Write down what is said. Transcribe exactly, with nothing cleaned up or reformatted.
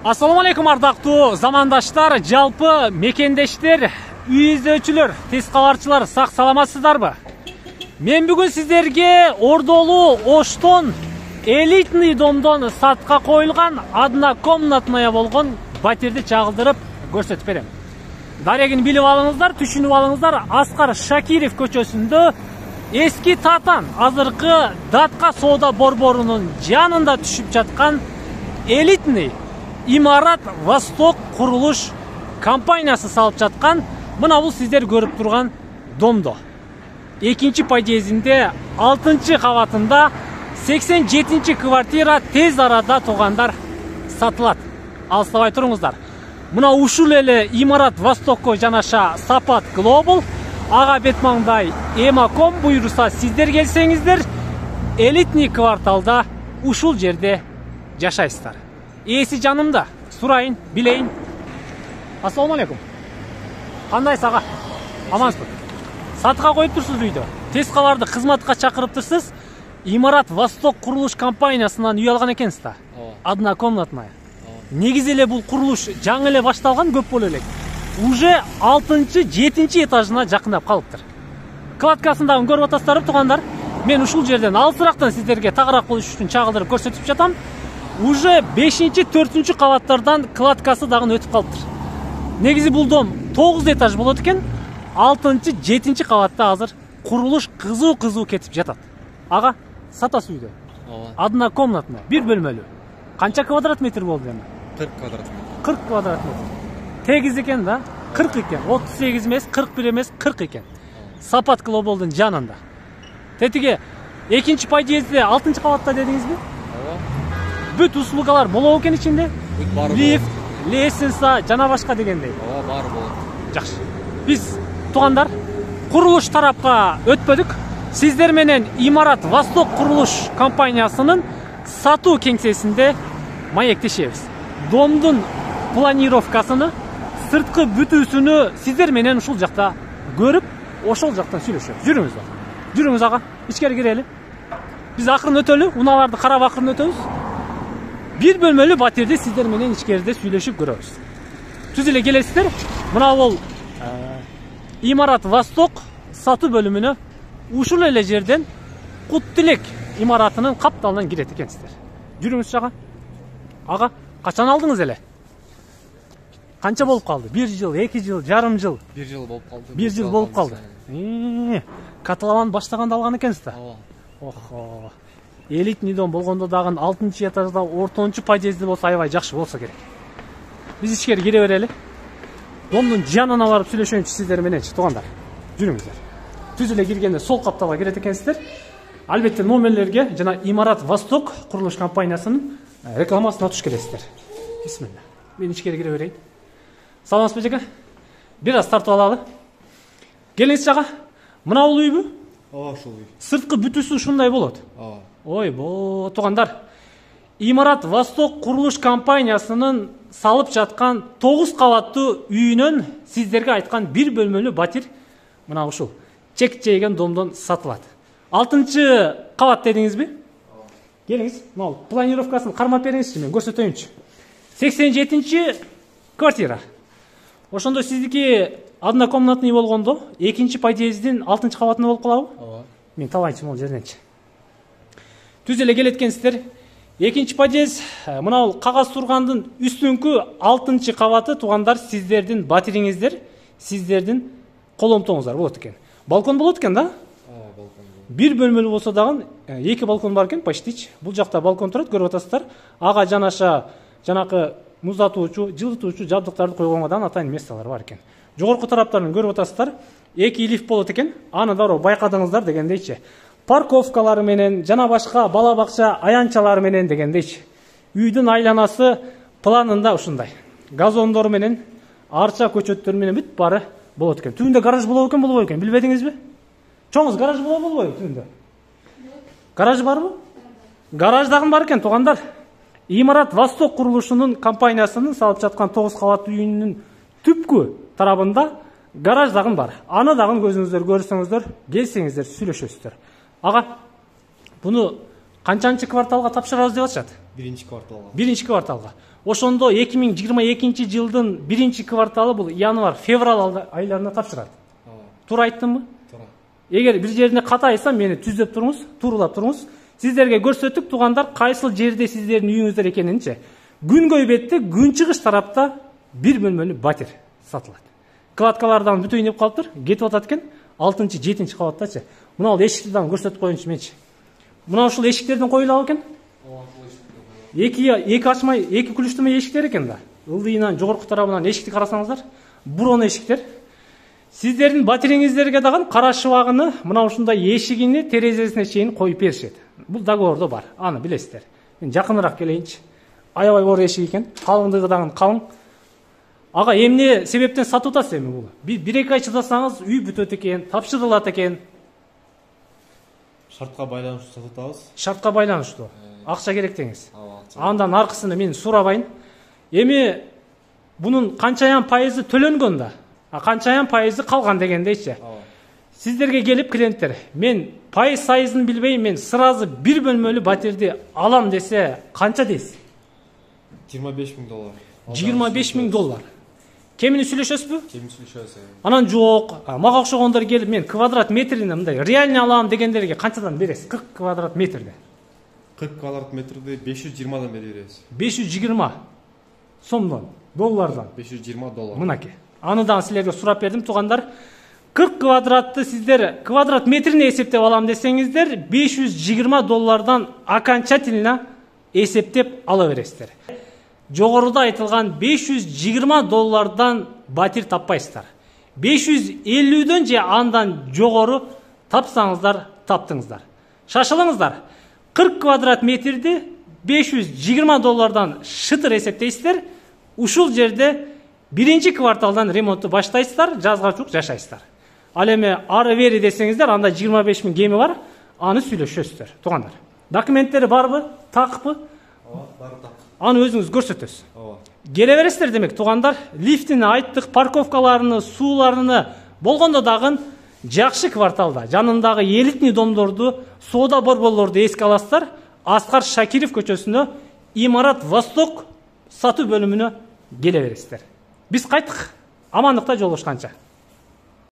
Assalamu alaikum ардактуу замандаштар, жалпы мекендештер, үй изөөчүлөр, тез кабарчылар, сак саламатсыздарбы? Мен бүгүн сиздерге Ордолуу Оштон элитный домдон сатка коюлган однокомнатная болгон батирди чагылдырып көрсөтүп берем. Дарегин билип алыңыздар, түшүнүп алыңыздар. Аскар Шакиров көчөсүндө эски Татан, азыркы Датка соода борборунун жанында түшүп жаткан элитный Имарат Восток курулуш компаниясы салып жаткан мына бул сиздер көрүп турган домдо. Экинчи подъездинде алтынчы кабатында сексен жетинчи квартира тез арада туугандар сатылат. Алыстабай туруңуздар. Мына ушул эле Имарат Востокко жанаша Сапат Global, ага бет маңдай Эмаком буйруса сиздер келсеңиздер, элитный кварталда ушул жерде жашайсыздар. Ээси жанымда, сурайын, билейин. Ассаламу алейкум. Кандайсыз ага? Амансызбы? Сатка коюп турсуз үйдө. Тез кабарды кызматка чакырыптырсыз. Имарат Восток курулуш компаниясынан үй алган экенсиз да. Однокомнатная. Негизи эле бул курулуш жаңы эле башталган, көп боло элек. Уже алтынчы, жетинчи этажына жакындап калыптыр. Кладкасындагы көрүп атасыздарбы туугандар? Мен ушул жерден алысырактан сиздерге тагыраак болуш үчүн чагылдырып көрсөтүп жатам. Уже бешинчи, төртүнчү кабаттардан кладкасы дагы өтүп калыптыр. Негизи бул дом тогуз этаж болот экен. алтынчы, жетинчи кабатта азыр курулуш кызуу-кызуу кетип жатат. Ага, сатасыз үйдө. Ооба. Однокомнатный, бир бөлмөлүү. Канча квадрат метр болду эми? кырк квадрат метр. кырк квадрат метр. Тегиз экен да? кырк экен. отуз сегиз эмес, кырк бир эмес, кырк экен. Сапат Globалдын жанында. Тетиги экинчи подъездде алтынчы кабатта дедиңизби? Ооба. Бүт услугалар болобу экен ичинде? Бүт баары. Лифт, лестница, жана башка дегендей. Ооба, баары болот. Жакшы. Биз туугандар курулуш тарапка өтпөдүк. Сиздер менен Имарат Восток курулуш компаниясынын сатуу кеңсесинде маектешебиз. Домдун планировкасыны, сырткы бүтүүсүнү сиздер менен ушул жакта көрүп, ошол жактан сүйлөшөбүз. Жүрүңүз бар. Жүрүңүз ага, ичкери кирели. Биз акырын өтөлү, унааларды карап акырын өтөбүз. Бир бөлмөлүү батирди сиздер менен ичкериде сүйлөшүп көрөбүз. Түз эле келесиздер. Мына бул Имарат Восток сатуу бөлүмүнө ушул эле жерден Куттилек имаратынын капталынан кирет экенсиздер. Жүрүңүз жага. Ага, качан алдыңыз эле? Канча болуп калды? бир жыл, эки жыл, жарым жыл? бир жыл болуп калды. бир жыл болуп калды. Каталаван баштаганда алган экенсиз да? Ооба. Охо. Элитный дом болгондо дагы алтынчы этажда ортончу подъезди болсо аябай жакшы болсо керек. Биз ичкери кире берели. Домдун жанына барып сүйлөшөйүнчү сиздер мененчи туугандар. Жүрүңүздөр. Түз эле киргенде сол капталга кирет экенсиздер. Албетте номерлерге жана Имарат Восток курулуш компаниясынын рекламасына туш келесиздер. Бисмилла. Мен ичкери кире берейин. Саламатсызбы жака? Бир аз тартып алалы. Келиңиз жага. Мына бул үйбү? Ооба, ушул үй. Сырткы бүтүүсү ушундай болот. Ооба. Ой, бо, туугандар. Имарат Восток курулуш компаниясынын салып жаткан тогуз кабаттуу үйүнөн сиздерге айткан бир бөлмөлүү батир мына ушул чек жейген домдон сатылат. алтынчы кабат дедиңизби? Келиңиз, мына планировкасын кармап бериңизчи, мен көрсөтөйүнчү. сексен жетинчи квартира. Ошондо сиздики однокомнатный болгондо экинчи подъездин алтынчы кабатында болуп калабы? Ооба. Мен табайынчы могул жерденчи. Түз эле келеткенсиздер. Экинчи подъезд, мына бул кагаз тургандын үстүнкү алтынчы кабаты туугандар сиздердин батириңиздер, сиздердин коломтоңуздар болот экен. Балкон болот экен да? Ооба, балкон. Бир бөлмөлүү болсо дагы эки балкон бар экен, почтич. Бул жакта балкон турат, көрүп атасыздар. Ага жанаша жанакы муздатуучу, жылытуучу жабдыктарды койгонго дагы атайын месталар бар экен. Жогорку тараптарын көрүп атасыздар. Эки лифт болот экен. Аны дароо байкадыңыздар дегендейчи. Парковкалары менен жана башка бала бакча аянчалары менен дегендейчи. Үйдүн айланасы планында ушундай. Газондор менен, арча көчөттөр менен бүт баары болот экен. Түбүндө гараж болобу экен, болбой экен, билбедиңизби? Чоңуз гараж болобу, болбойбу түбүндө? Гараж барбы? Гараж дагы бар экен туугандар. Имарат Восток курулушунун компаниясынын салып жаткан тогуз кабаттуу үйүнүн түпкү тарабында гараж дагы бар. Аны дагы көзүңүздөр көрсөңүздөр, келсеңиздер сүйлөшөсүздөр. Ага, буну Канчанчы кварталга тапшырабыз деп атышат? Биринчи кварталга. Биринчи кварталга. Ошондо эки миң жыйырма экинчи жылдын биринчи кварталы бул январь, февраль айларына тапшырат. Ооба. Туура айттымбы? Туура. Эгер бир жерине ката айтсам, мени түзөп туруңуз, туурулап туруңуз. Сиздерге көрсөттүк туугандар, кайсыл жерде сиздердин үйүңүздөр экенинчи. Күнгөй бетте, күнчыгыш тарапта бир бөлмөлүү батир сатылат. Кладкалардан бүтөйүн деп калыптыр, кетип атат экен. алтынчы, жетинчи кабаттачы. Мына ал эшикти дагы көрсөтүп коеюнчу менчи. Мына ушул эшиктерден коюлабы экен? Ооба, бул эшикти. Эки эки ачмай, эки күлүштүмө эшиктер экен да. Ылдыйынан жогорку тарабынан эшикти карасаңыздар, бурон эшиктер. Сиздердин батириңиздерге дагы кара шыбагыны, мына ушундай эшигини терезесине чейин коюп беришет. Бул договордо бар, аны билесиздер. Мен жакыныраак келейинчи. Аябай оор эшик экен, калыңдыгы дагы калың. Ага, эмне себептен сатып атасыз эми бул? бир эки ай чыдасаңыз үй бүтөт экен, тапшырылат экен. Шартка байланыштуу сатып атабыз. Шартка байланыштуу. Акча керек деңиз. Ооба, акча. Андан аркысыны мен сурабайын. Эми бунун канчаян пайызы төлөнгөн да, а канчаян пайызы калган дегендейчи. Ооба. Сиздерге келип клиенттер, мен пайыз сайызын билбей, мен сразу бир бөлмөлүү батирди алам десе, канча дейсиз? жыйырма беш миң доллар. жыйырма беш миң доллар. Кемини сүйлөшөсүзбү? Кемин сүйлөшөбүз. Анан жок, мага окшогондор келип, мен квадрат метрине мындай реально алам дегендерге канчадан бересиз? кырк квадрат метрде. кырк квадрат метрди беш жүз жыйырмадан бере беребиз. беш жүз жыйырма сомдон, доллардан. беш жүз жыйырма доллар. Мынаки. Аны дагы силерге сурап бердим, туугандар. кырк квадратты сиздер квадрат метрине эсептеп алам десеңиздер, беш жүз жыйырма доллардан окончательно эсептеп ала бересиздер. Жогоруда айтылган беш жүз жыйырма доллардан батир таппайсыздар. беш жүз элүүдөн же андан жогору тапсаңыздар, таптыңыздар. Шашылыңыздар. кырк квадрат метрди беш жүз жыйырма доллардан шытыр эсептейсиздер. Ушул жерде биринчи кварталдан ремонтту баштайсыздар, жазга чук жашайсыздар. Ал эми ары бери десеңиздер, анда жыйырма беш миң кеми бар, аны сүйлөшөсүздөр, туугандар. Документтери барбы? Такпы? Ооба, баары так. Аны өзүңүз көрсөтөсүз. Ооба. Келе бересиздер демек, туугандар. Лифтини айттык, парковкаларыны, сууларыны болгондо дагы жакшы кварталда, жанындагы элитный домдорду, соода борборлорду эске аласыздар. Аскар Шакиров көчөсүнө, Имарат Восток сатуу бөлүмүнө келе бересиздер. Биз кайттык. Амандыкта жолугушканча.